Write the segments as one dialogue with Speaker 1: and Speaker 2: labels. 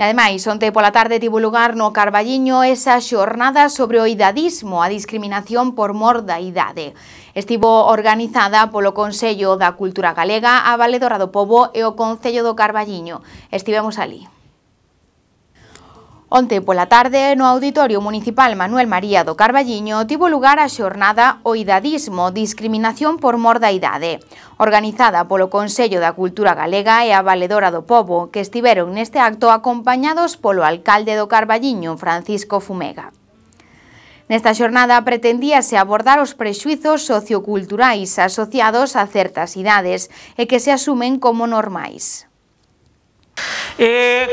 Speaker 1: E ademais, onte pola tarde tivo lugar no Carballiño esa xornada sobre o idadismo, a discriminación por mor da idade. Estivo organizada polo Consello da Cultura Galega, a Valedora do Pobo e o Concello do Carballiño. Estivemos ali. Onte pola tarde, no Auditorio Municipal Manuel María do Carballiño, tivo lugar a xornada O idadismo, discriminación por mor da idade, organizada polo Consello da Cultura Galega e a Valedora do Pobo, que estiveron neste acto acompañados polo alcalde do Carballiño, Francisco Fumega. Nesta xornada pretendíase abordar os prexuizos socioculturais asociados a certas idades e que se asumen como normais.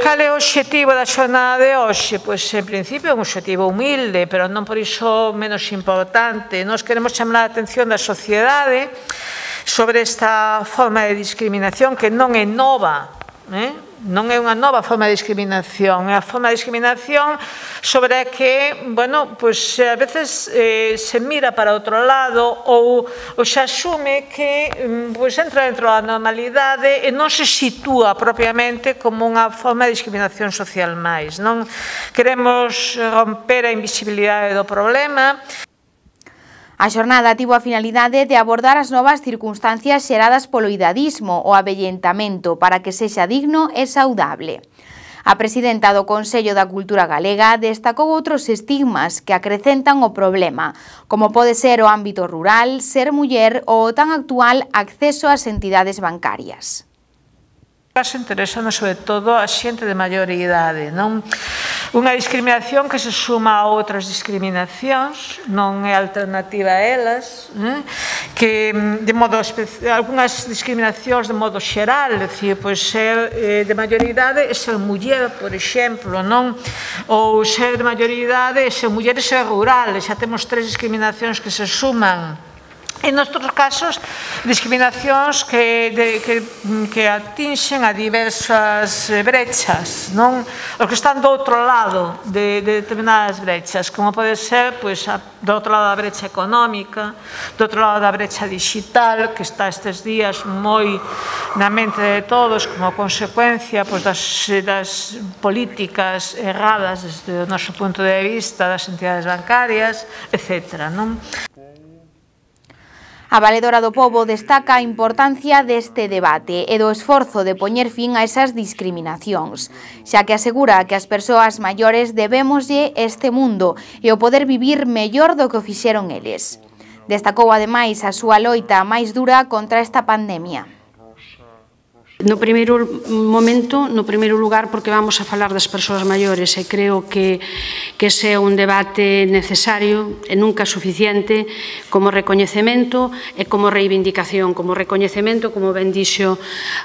Speaker 2: Cal é o obxectivo da xornada de hoxe? Pois, en principio, é un obxectivo humilde, pero non por iso menos importante. Nós queremos chamar a atención da sociedade sobre esta forma de discriminación que non é nova, non é unha nova forma de discriminación, é a forma de discriminación sobre a que, bueno, pois a veces se mira para outro lado ou se asume que pois entra dentro da normalidade e non se sitúa propiamente como unha forma de discriminación social máis. Non queremos romper a invisibilidade do problema.
Speaker 1: A xornada tivo a finalidade de abordar as novas circunstancias xeradas polo idadismo, o avellentamento, para que sexa digno e saudable. A presidenta do Consello da Cultura Galega destacou outros estigmas que acrecentan o problema, como pode ser o ámbito rural, ser muller ou o tan actual acceso ás entidades bancarias.
Speaker 2: Interesanos sobre todo a xente de maior idade, non? Unha discriminación que se suma a outras discriminacións, non é alternativa a elas, que de modo algunhas discriminacións de modo xeral, é dicir, pois ser de maior idade é ser muller, por exemplo, non? Ou ser de maior idade é ser muller e ser rural, xa temos tres discriminacións que se suman. En noutros casos, discriminacións que atinxen a diversas brechas, non? Os que están do outro lado de determinadas brechas, como pode ser, pois, do outro lado da brecha económica, do outro lado da brecha digital, que está estes días moi na mente de todos como consecuencia pois, das políticas erradas desde o noso punto de vista das entidades bancarias, etc., non?
Speaker 1: A Valedora do Pobo destaca a importancia deste debate e do esforzo de poñer fin a esas discriminacións, xa que asegura que as persoas maiores debémoslle este mundo e o poder vivir mellor do que o fixeron eles. Destacou ademais a súa loita máis dura contra esta pandemia.
Speaker 3: No primeiro momento, no primeiro lugar, porque vamos a falar das persoas maiores e creo que ese é un debate necesario e nunca suficiente como recoñecemento e como reivindicación. Como recoñecemento, como ben dixo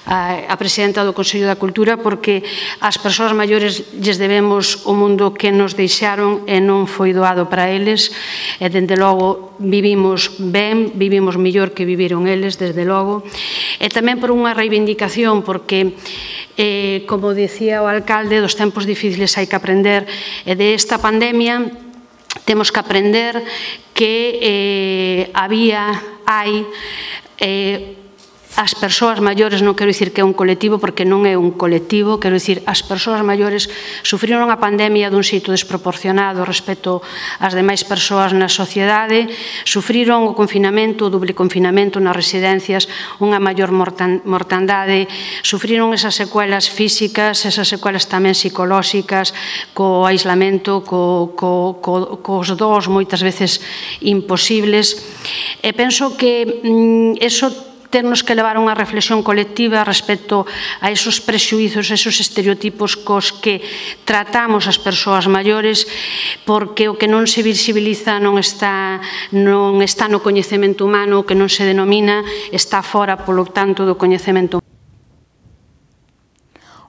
Speaker 3: a presidenta do Consello da Cultura, porque as persoas maiores lles debemos o mundo que nos deixaron e non foi doado para eles e, dende logo, vivimos ben, vivimos mellor que viviron eles, desde logo. E tamén por unha reivindicación, porque, como dicía o alcalde, dos tempos difíciles hai que aprender, e de esta pandemia temos que aprender que hai as persoas maiores, non quero dicir que é un colectivo, porque non é un colectivo, quero dicir, as persoas maiores sufriron a pandemia dun xeito desproporcionado respecto ás demais persoas na sociedade, sufriron o confinamento, o doble confinamento nas residencias, unha maior mortandade, sufriron esas secuelas físicas, esas secuelas tamén psicolóxicas, co aislamento, cos dous moitas veces imposibles, e penso que eso ternos que levar unha reflexión colectiva respecto a esos prexuízos, esos estereotipos cos que tratamos as persoas maiores, porque o que non se visibiliza non está no coñecemento humano, o que non se denomina está fora, polo tanto, do coñecemento humano.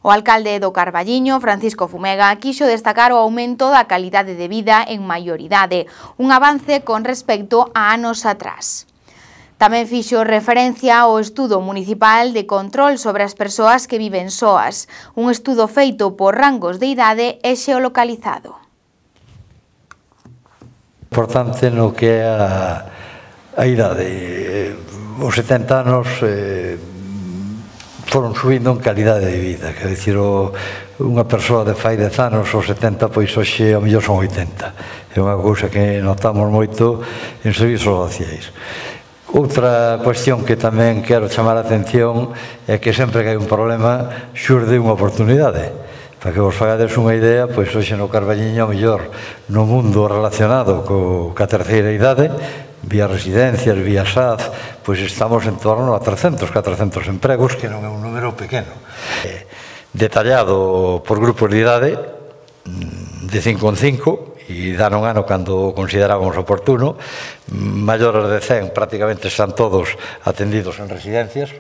Speaker 1: O alcalde do Carballiño, Francisco Fumega, quixo destacar o aumento da calidade de vida en maioridade, un avance con respecto a anos atrás. Tamén fixo referencia ao estudo municipal de control sobre as persoas que viven soas, un estudo feito por rangos de idade e xeolocalizado.
Speaker 4: Importante no que é a idade. Os 70 anos foron subindo en calidade de vida, quer dicir, unha persoa de fai 10 anos ou 70, pois hoxe ao mellor son 80. É unha cousa que notamos moito en servizos sociais. Outra cuestión que tamén quero chamar a atención é que sempre que hai un problema xurde unha oportunidade. Para que vos fagades unha idea, pois hoxe no Carballiño, ao mellor, no mundo relacionado ca terceira idade, vía residencias, vía SAD, pois estamos en torno a 300, 400 empregos, que non é un número pequeno. Detallado por grupos de idade, de 5 en 5, e dan un ano cando considerábamos oportuno, maiores de 100 prácticamente están todos atendidos en residencias,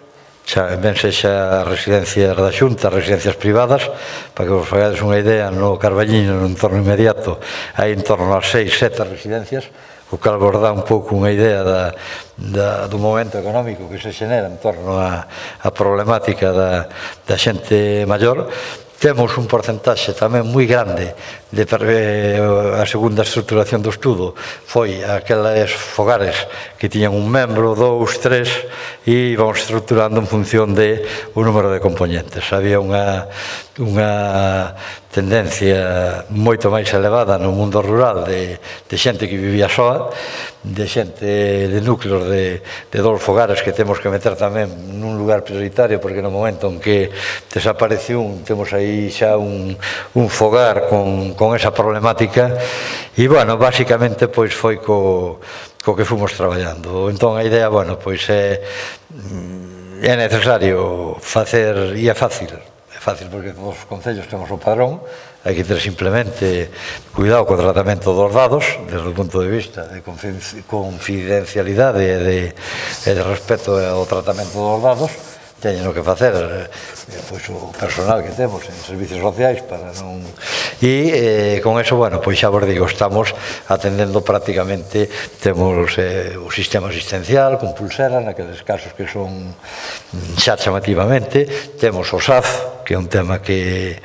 Speaker 4: ben sexa residencias da Xunta, residencias privadas. Para que vos fagades unha idea, no Carballiño, no entorno inmediato, hai en torno a 6, 7 residencias, o cal vos dá un pouco unha idea do momento económico que se xenera en torno á problemática da xente maior. Temos un porcentaxe tamén moi grande a segunda estruturación do estudo foi aqueles fogares que tiñan un membro, 2, 3 e íbamos estruturando en función do número de componentes. Había unha tendencia moito máis elevada no mundo rural de xente que vivía soa, de xente de núcleos de 2 fogares que temos que meter tamén nun lugar prioritario, porque no momento en que desaparece temos aí xa un fogar con esa problemática e, bueno, basicamente pois foi co que fomos traballando. Entón a idea, bueno, pois é necesario facer, e é fácil porque todos os concellos temos o padrón, hai que ter simplemente cuidado co tratamento dos dados desde o punto de vista de confidencialidade e de respeto ao tratamento dos dados. Teñen que facer pois o personal que temos en servicios sociais para non... E con eso, bueno, pois xa vos digo, estamos atendendo prácticamente, temos o sistema asistencial con pulsera naqueles casos que son xa chamativamente, temos o SAF, que é un tema que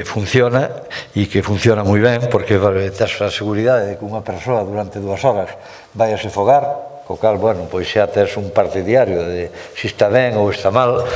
Speaker 4: funciona e que funciona moi ben, porque tes a seguridade de que unha persoa durante 2 horas vai a se fogar, co cal, bueno, pois xa tes un parte diario de se está ben ou está mal.